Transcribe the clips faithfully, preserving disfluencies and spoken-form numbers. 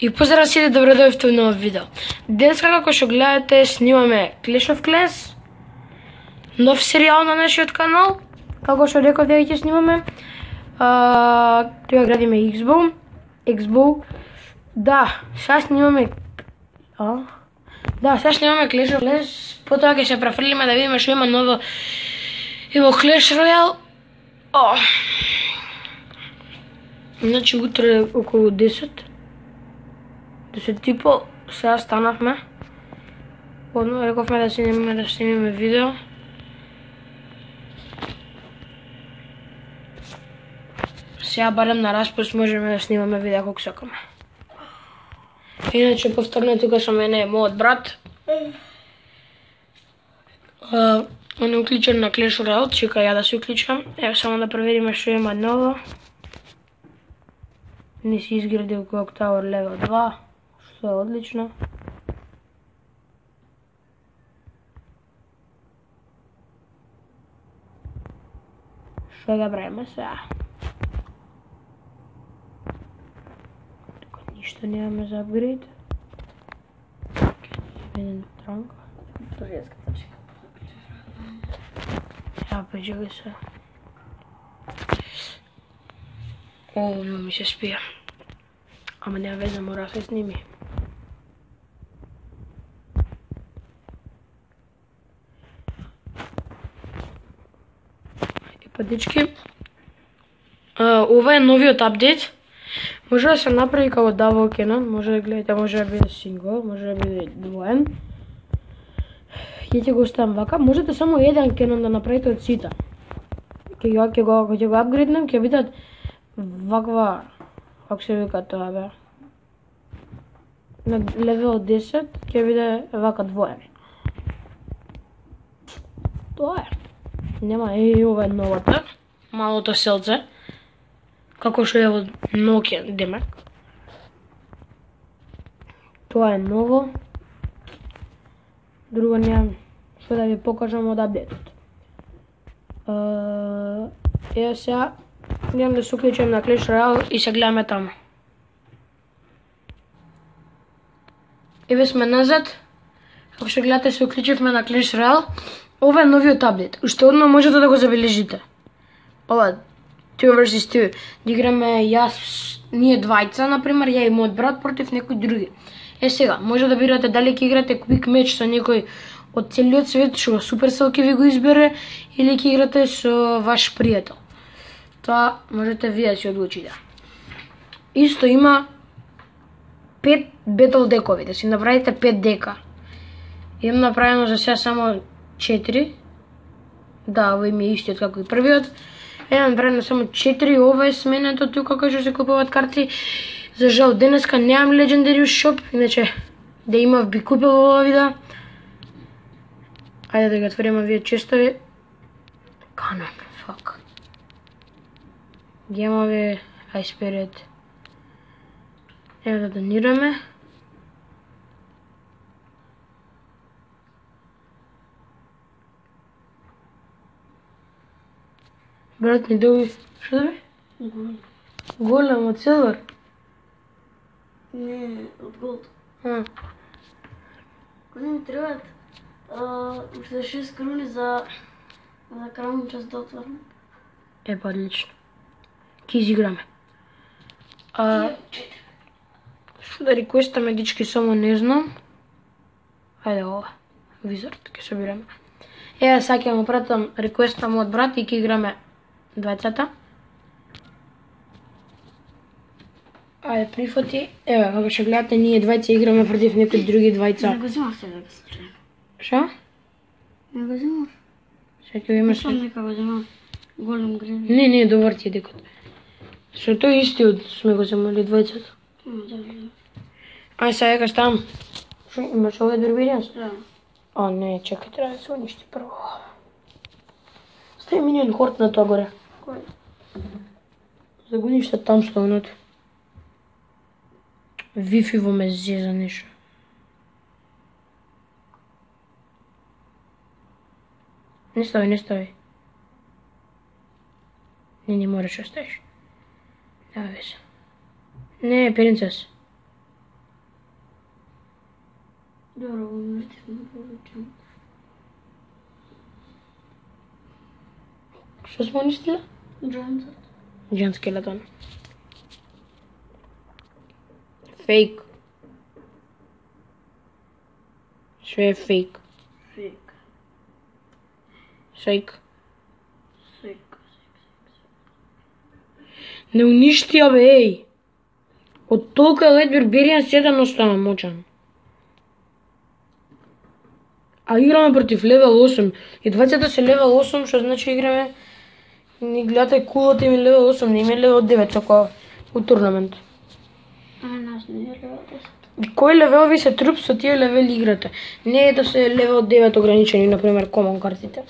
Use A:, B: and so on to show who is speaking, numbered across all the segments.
A: И поздрав сите, добро дојдовте во нов видео. Денеска, како што гледате, снимаме Clash of Clans, нов серијал на нашиот канал. Како што реков дека ќе снимаме, а, тоа градиме X-Bow. X-Bow. Да, сега снимаме а? Да, сега снимаме Clash of Clans. Потоа ќе се префрлиме да видиме што има ново и во Clash Royale. О. Значи утре околу десет. десет и пол, сега станавме. Одно рековме да снимаме да снимаме видео. Сега барем на распуст можеме да снимаме видео колку сакаме. Иначе повторно тука со мене е мојот брат. Uh, он е уклучен на Clash Royale, чека ја да се уклучам. Ево само да провериме што има ново. Не си изградил Clock Tower левел два, што е одлично. Што да правиме сега? Тука ништо немаме за апгрейд. Еден транк.
B: Турецката чека.
A: Ја пречекај се. О, ми се спија. Ама нема веза, мора да се сними. И па дечки, ова е новиот апдейт. Може да се направи како Double Cannon, може да гледате, може да биде сингл, може да биде двоен. Ќе ќе го оставам вака, можете само еден Cannon да направите од сите. Ќе го ќе го ќе го апгрейднем, ќе бидат ваква, како се вика тоа бе, на левел десет ќе биде вака двоен. Тоа е. Нема и ова е новата, малото селце, како што е во Nokia демек. Тоа е ново. Друго немам што да ви покажам од апдейтот. Ева сега идем да се уклучам на Clash Royale и се гледаме таму. Еве сме назад. Како што гледате, се уклучивме на Clash Royale. Ова е новиот апдейт. Уште одма можете да го забележите. Ова two versus two. Да играме јас, ние двајца, например, ја и мојот брат против некој други. Е сега, може да бирате дали ќе играте quick match со некој од целиот свет, што Supercell ќе ви го избере, или ќе играте со ваш пријател. Тоа можете вие да си одлучите. Исто има пет battle декови, да си направите пет дека. Имам направено за сега само четири. Да, овој ми е истиот како и првиот. Имам направено само четири, ова е сменето тука кај што се купуваат карти. За жал денеска немам Legendary Shop, иначе да имав би купил ова видео. Ајде да ги отвориме вие честови. Канон, фак. Гемови, Ice Spirit. Ево да донираме. Брат ми доби, што доби?
B: Голем.
A: Голем од Silver?
B: Не, од голд.
A: А.
B: Кој ми требаат уште шест круни за за крајни час да отворам.
A: Е, па одлично. Ке изиграме. А, што да реквестаме, дички, само не знам. Ајде ова, Wizard, ке собираме. Ева, сега ќе му пратам реквест на мојот брат и ке играме двајцата. Ајде, прифати. Ева, како што гледате, ние двајца играме против некои други двајца.
B: Не го земав сега да се случи.
A: Шо?
B: Не го земав.
A: Сега ќе имаш...
B: Сам нека го земав. Голем грен.
A: Не, не, добар ти е декот. Со тој истиот сме го земали двајцата.
B: Да, да.
A: Ај сега дека ставам. Шо, имаш овој Barbarians?
B: Да.
A: А, не, чекај, треба да се уништи прво. Стави минион хорт на тоа горе.
B: Кој?
A: За го уништа там стовното. Wi-Fi во ме зеза нешто. Не стави, не стави. Не, не мораш да ставиш. Нема веза. Не, принцес.
B: Добро, уместивме повеќе.
A: Што сме уништиле?
B: Джонсот.
A: Джон Скелетон. Фейк. Све е фейк.
B: Фейк.
A: Фейк.
B: Фейк.
A: Не уништија бе, еј. Од толку Elite Barbarians седен остана мочан. А играме против левел осум. И двајцата се левел осум, што значи играме. Ни гледате кулата им левел осум, не им е левел девет, како у турнамент.
B: А нас не е левел десет.
A: Кој левел ви се труп со тие левели играте? Не е да се левел девет ограничени, например, комон картите.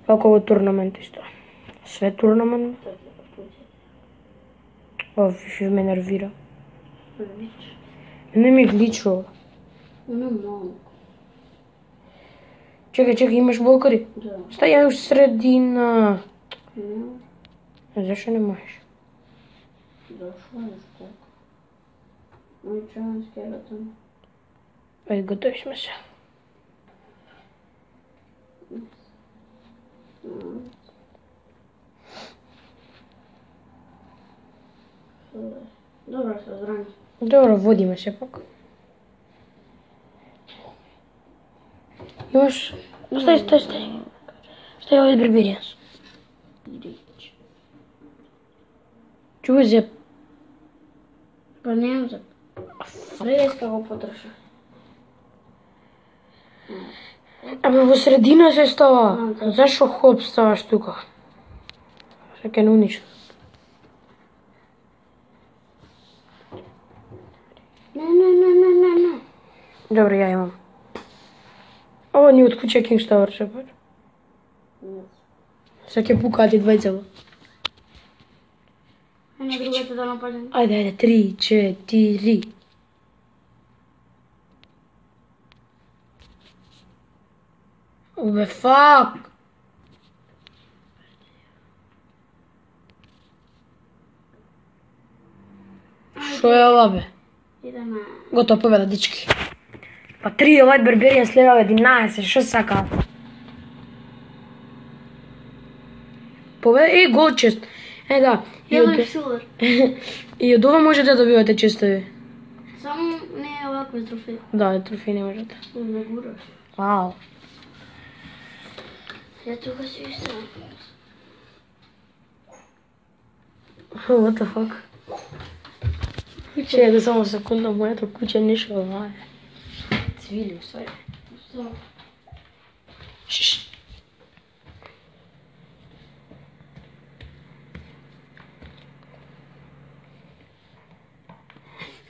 A: Како во турнамент исто. Све турнамент. О, више ме нервира.
B: Глич.
A: Не ми гличува.
B: Не малку.
A: Чекај, чекај, имаш болкари?
B: Да.
A: Стај у средина.
B: Не.
A: А зашо не можеш?
B: Зашо е така? Мој Джон Скелетон.
A: Ајде, готови сме се.
B: Добро се зрани.
A: Добро, водиме сепак. Имаш... Стај, стај, стај. Стај овој Barbarians.
B: Рич.
A: Чувај зеп.
B: Па немам зап. Реска го потроши.
A: Абе, во средина се става.
B: А, да.
A: Зашо хоп ставаш тука? Се ке не уништа.
B: Не, не, не, не, не, не.
A: Добро, ја имам. Ова ни од куќа King's Tower се пар. Се ке пукаат и двајцава.
B: Е на другата да нападем.
A: Ајде, ајде, три, четири. Убе, фак! Шо е ова, бе?
B: Идеме.
A: Готово, победа, дички. Па три Elite Barbarians левел единаесет, шо сака? Победа, е, гол чест. Е, да. И
B: Јело
A: од,
B: и силвер.
A: и од ова можете да добивате честови.
B: Само не е овакви трофеи.
A: Да, трофеи не можете.
B: Не гураш.
A: Вау.
B: Ја тука си истина.
A: What the fuck? Чекай да само секунда, моето куќе нешто ова е. Цвили, усвари.
B: Што?
A: Шш.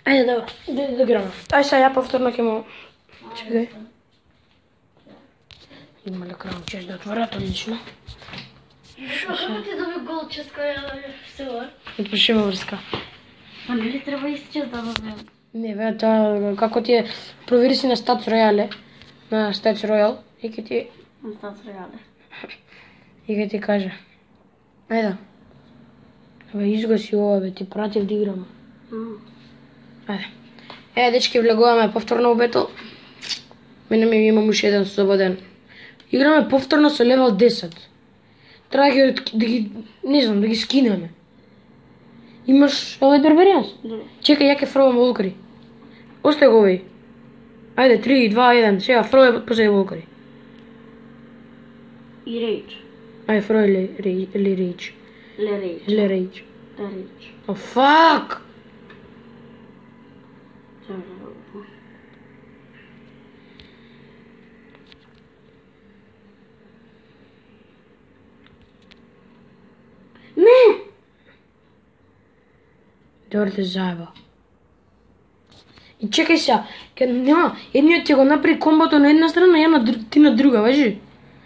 A: Ајде, да, да, да играме. Ај сега ја повторно ќе му... Чекај. Има ли краун чест да отворат, одлично.
B: Шо, како ти доби гол чест која е силвер?
A: Отпишеме врска.
B: Па нели треба исти чест да добием?
A: Не, бе, тоа, како ти е, провери си на Stats Royale, на Stats Royale, и ќе ти,
B: На стат реале.
A: и ќе ти каже. Ајде. Бе, изгаси ова, бе, ти пратив да играме. Ајде. Е, дечки, влегуваме повторно у бетл. Мене ми имам уште еден слободен. Играме повторно со левел десет. Треба да ги, да ги, не знам, да ги скинеме. Имаш Elite Barbarians?
B: Да.
A: Чекај, ја ќе фрлам волкари. Остај го овој. Ајде, три, два, еден. Сега фрлај после волкари.
B: И рейдж.
A: Ајде, фрлај ли, ли рейдж.
B: Ле рейдж.
A: Ле рейдж.
B: Да рейдж.
A: О, фак!
B: Не!
A: Добро те заеба. И чекај сега, ке нема, едниот ќе го направи комбото на една страна, ја на дру- ти на друга, важи?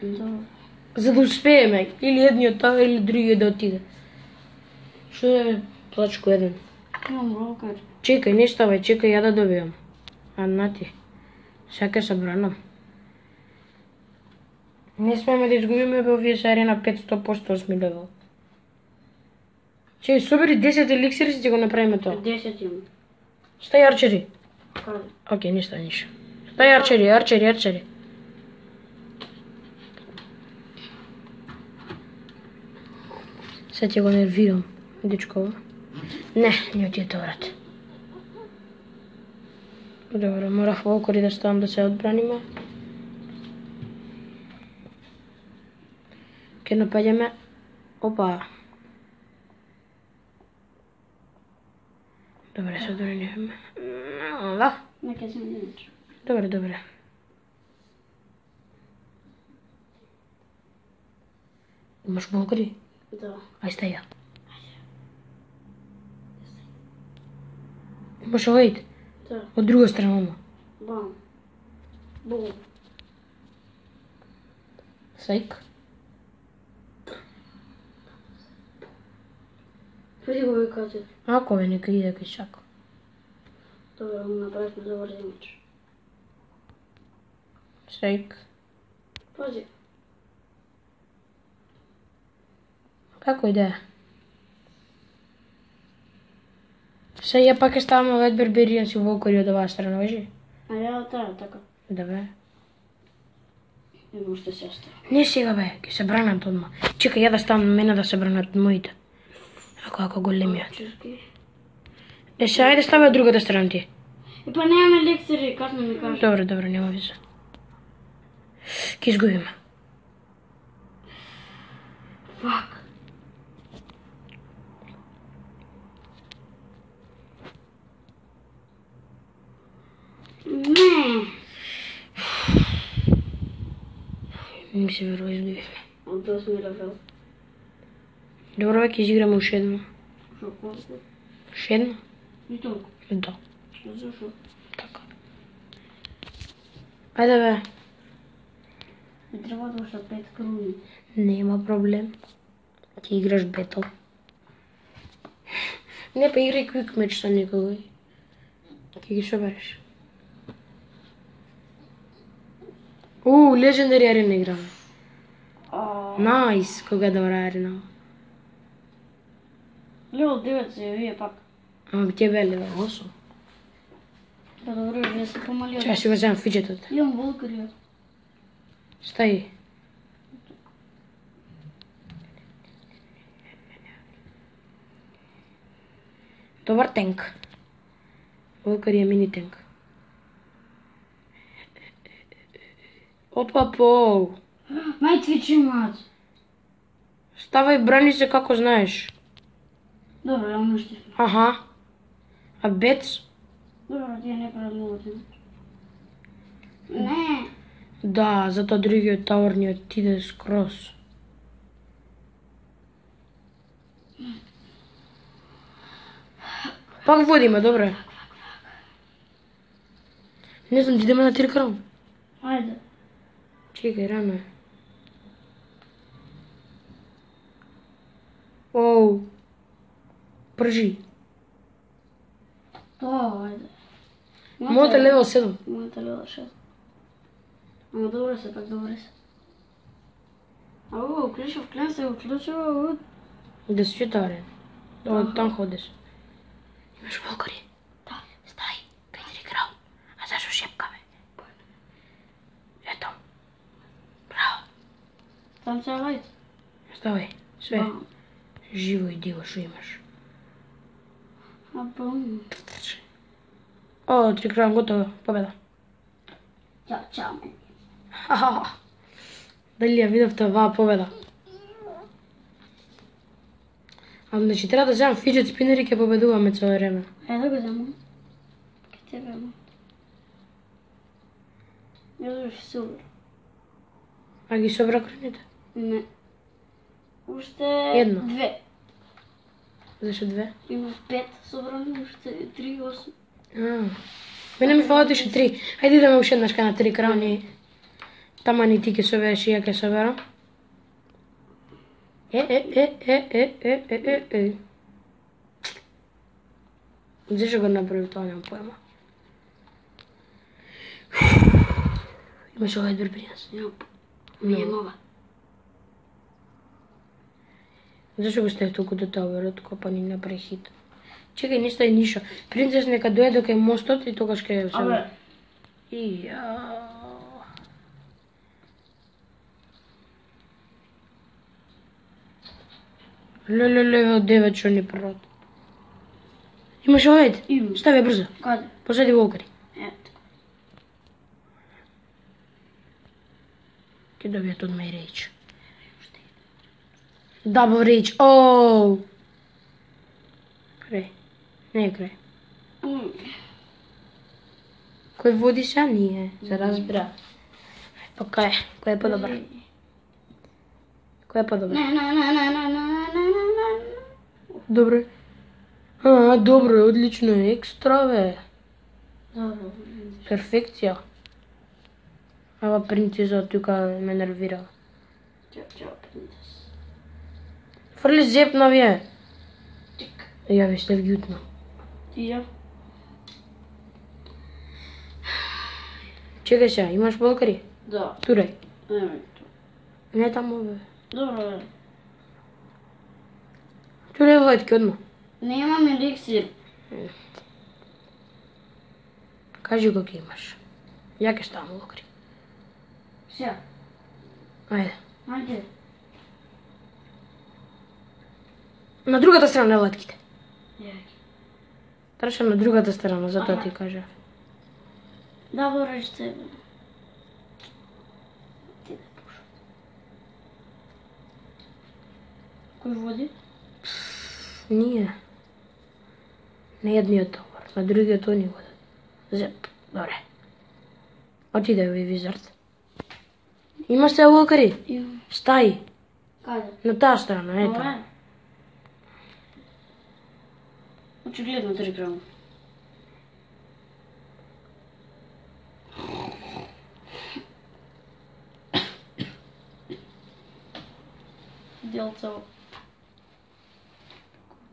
B: Да.
A: За да успееме, или едниот таа, или другиот да отиде. Што е плачко еден?
B: Имам волкар.
A: Чекај, не ставај, чекај ја да добијам. А на ти. Сега ќе се бранам. Не смееме да изгубиме, бе, овие се арена петсто посто осми левел. Чекај, собери десет еликсири, си ќе го направиме тоа.
B: десет имам.
A: Стај арчери.
B: Каде?
A: Океј, ништо, ништо. Дај арчери, арчери, арчери. Се ти го нервирам, дечко. Не, не ти е тоа брат. Добро, морав волкори да ставам да се одбраниме. Ке напаѓаме. Опа. Добре, се одбраниваме. Да.
B: Нека се минеш.
A: Добре, добре. Имаш волкори?
B: Да.
A: Ај стаја. Имаш овајд?
B: Да.
A: Од друга страна, ома.
B: Бам. Бум.
A: Сајк.
B: Преди го викате.
A: Ако бе, нека иде кај шако.
B: Добро, му направихме добар имидж.
A: Сајк.
B: Пази.
A: Како иде? Се ја пак ќе ставаме овај берберијан си волкори од оваа страна, вежи?
B: А ја таа така.
A: Да бе.
B: Има уште сестра.
A: Не сега бе, ќе се бранат одма. Чекај ја да ставам на мене да се бранат моите. Ако ако големиот.
B: Чешки.
A: Е, се ајде стави од другата страна ти.
B: И па немаме лектори, касно ми кажа.
A: Добро, добро, нема виза. Ке изгубиме.
B: Фак. Не.
A: Не ми се верува, изгубивме.
B: Од осми левел.
A: Добро, бе, ќе изиграме уште едно.
B: Шо колку?
A: Уште едно?
B: И толку.
A: Да,
B: Зашо?
A: така. Ајде бе.
B: Ми треба да уште пет круги.
A: Нема проблем. Ќе играш бетл. Не, па играј квик меч со некој. Ќе ги собереш. У, легендари арена играме.
B: А,
A: Најс, кога е добра арена.
B: левел девет се вие пак.
A: Ама би тебе бе левел осум.
B: Да, добро, вие се помали од...
A: Чај си го земам фиджетот.
B: Имам волкари.
A: Стаи. Добар тенк. Волкари е мини тенк. Опа пол.
B: Мај твичи мат.
A: Ставај, брани се како знаеш.
B: Добро, ја уништив.
A: Аха. А бец?
B: Добро, тие не прават многу ти. Не.
A: Да, затоа другиот таурниот иде скроз. Пак водиме, добре. Не знам, идеме на три крам.
B: Ајде.
A: Чекај, рано е. Оу. Пржи.
B: Тоа, ајде.
A: Мојата е левел седум.
B: Мојата левел шест. Ама добро се, пак добро се. Ау, Клишов клен се уклучува.
A: Да се чита арен. Од там ходиш. Имаш волкари?
B: Да.
A: Стај, Петри крал. А зашо шепкаме? Ето. Браво.
B: Там се лајт.
A: Ставај, све. Живо и диво шо имаш.
B: А бум.
A: О, три крал, готово, победа.
B: Чао, чао, мен.
A: Ха-ха. Дали ја видовте оваа победа? А значи треба да земам фиджет спинер и ќе победуваме цело време.
B: Е, да го земам. Ке тебе, ама. Ја завиш супер.
A: А ги собра краните?
B: Не. Уште
A: Едно.
B: две.
A: Зашо две?
B: Има пет собрани, уште три, осум.
A: А. Мене ми фалат уште три. Ајде идеме уште еднаш кај на три крауни. Тама ни ти ќе собереш и ја ќе соберам. Е, е, е, е, е, е, е, е, е. Зашо го направи тоа, немам појма. Имаш овај берберијанс?
B: Јоп. Ми е нова.
A: Зашо го стави толку до таверот, копа ни направи хит? Чекај, не стај ништо. Принцес нека дојде до кај мостот и тогаш ќе
B: Абе,
A: Ја. Леле, леве од девет што ни првот. Имаш овајд?
B: Имам.
A: Стави ја брзо.
B: Каде?
A: Посади волкари.
B: Ето.
A: Ке добијат од мај рейч. Дабл рейч. Оу. Крај. Не е крај.
B: М.
A: Кој води са ние? За разбира. Па кај? Кој е подобар? Кој е подобар?
B: Не, не, не, не, не, не, не, не, не.
A: Добро. А, добро, одлично, екстра бе.
B: Добро.
A: Перфекција. Ава принцеза тука ме нервира.
B: Чао, чао, принцес.
A: Фрли зеп на вие.
B: Тик.
A: Ја ви сте вјутно.
B: Ти ја?
A: Чекај сега, имаш волкари?
B: Да.
A: Турај.
B: Еме.
A: Не таму бе.
B: Добро, бе.
A: Турај лајтки одма.
B: Немам еликсир.
A: Кажи го ке имаш. Ја ке ставам волкари.
B: Сега.
A: Ајде.
B: Ајде.
A: На другата страна латките.
B: Ја.
A: Траше на другата страна, затоа ти кажа.
B: Да, го речте. Ти да пуша. Кој води?
A: Ние. Не едниот товар, на другиот они го дадат. Зеп, добре. Отиде ви визард. Имаш се волкари?
B: Имам.
A: Стаи.
B: Каде?
A: На таа страна, ето.
B: Ова е. Очигледно три грама. Делца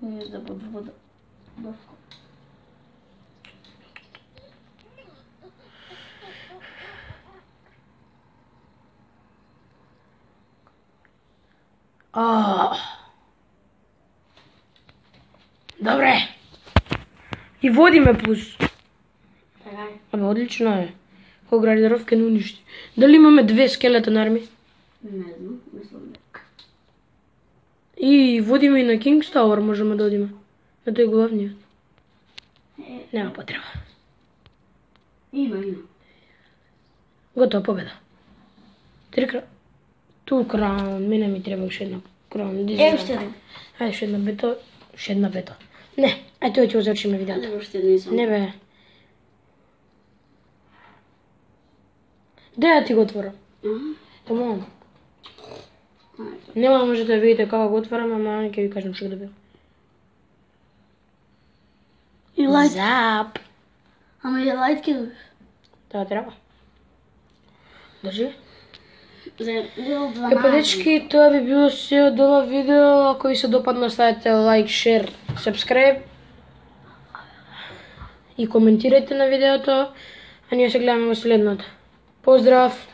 B: не да под вода. Бавко.
A: А. Добре. И водиме плюс.
B: Така е.
A: Абе, одлично е. Кој градиров ке не уништи. Дали имаме две скелетон арми?
B: Не знам, мислам дека.
A: И водиме и на King's Tower, можеме да одиме. На тој главниот.
B: Е,
A: Нема потреба.
B: има, има.
A: Готова победа. Три кра... Ту краун, мене ми треба уште една краун.
B: Е, уште една.
A: Ајде, уште една бето, уште една бето. Не, ајде тоа ќе го завршиме видеото.
B: Ајде, уште не сам.
A: Не бе. Де ја ти го отворам?
B: Аха.
A: Таму.
B: Ајде.
A: Нема може да видите како го отворам, ама ќе ви кажам што го добивам.
B: И лајт.
A: Зап.
B: Ама и лајт ке добив.
A: Тоа треба. Држи.
B: За лил
A: Е,
B: дванаесет.
A: па дечки, тоа би било се од ова видео. Ако ви се допадна, ставете лайк, шер, subscribe. И коментирајте на видеото. А ние се гледаме во следното. Поздрав!